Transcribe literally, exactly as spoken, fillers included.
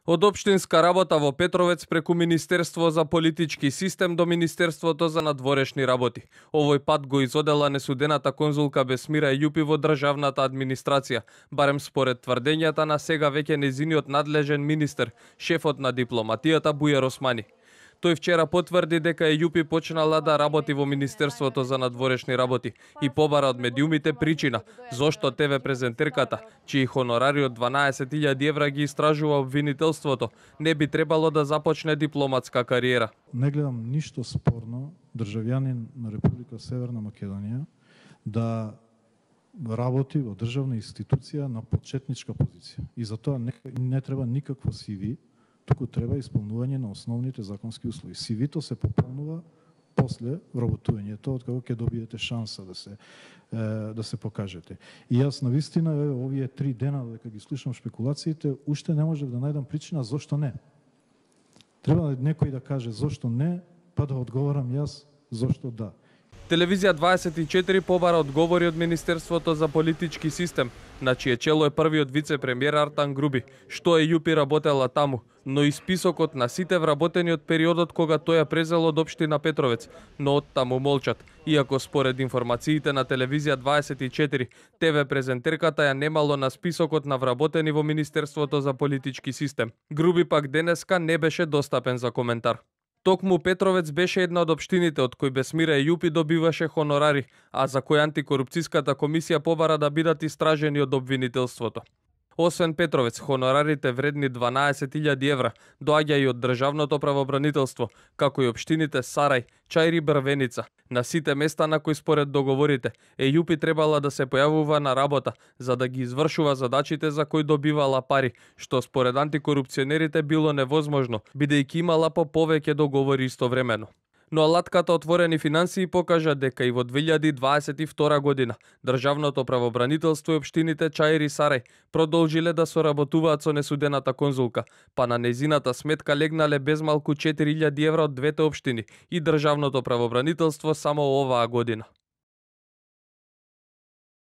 Од општинска работа во Петровец преку Министерство за политички систем до Министерството за надворешни работи. Овој пат го изодела несудената конзулка Бесмира Ејупи во државната администрација, барем според тврдењата на сега веќе нејзиниот надлежен министер, шефот на дипломатијата Бујар Османи. Тој вчера потврди дека Ејупи почнала да работи во Министерството за надворешни работи и побара од медиумите причина зошто те ве презентерката, чии хонорари од дванаесет илјади евра ги истражува обвинителството, не би требало да започне дипломатска кариера. Не гледам ништо спорно државјанин на Република Северна Македонија да работи во државна институција на почетничка позиција. И за тоа не, не треба никакво си ви, туку треба исполнување на основните законски услови. си ви-то се пополнува после вработувањето, од кога ќе добиете шанса да се е, да се покажете. И јас навистина овие три дена дека ги слушам шпекулациите, уште не можев да најдам причина зошто не. Треба некој да каже зошто не, па да одговорам јас зошто да. Телевизија дваесет и четири побара одговори од Министерството за политички систем, на чие чело е првиот вице-премиер Артан Груби, што Ејупи работела таму, но и списокот на сите вработени од периодот кога тој ја презел од општина Петровец, но од таму молчат, иако според информациите на Телевизија дваесет и четири, те ве презентерката ја немало на списокот на вработени во Министерството за политички систем. Груби пак денеска не беше достапен за коментар. Токму Петровец беше една од општините од кои Бесмира Ејупи добиваше хонорари, а за кои антикорупцијската комисија побара да бидат истражени од обвинителството. Освен Петровец, хонорарите вредни дванаесет илјади евра доаѓа и од државното правобранителство, како и општините Сарај, Чаир и Брвеница. На сите места на кои според договорите, Ејупи требала да се појавува на работа за да ги извршува задачите за кои добивала пари, што според антикорупционерите било невозможно, бидејќи имала по повеќе договори истовремено. Но алатката отворени финансии покажа дека и во две илјади дваесет и втора година државното правобранителство и општините Чаир и Сарај продолжиле да соработуваат со несудената конзулка, па на нејзината сметка легнале безмалку четири илјади евра од двете општини и државното правобранителство само оваа година.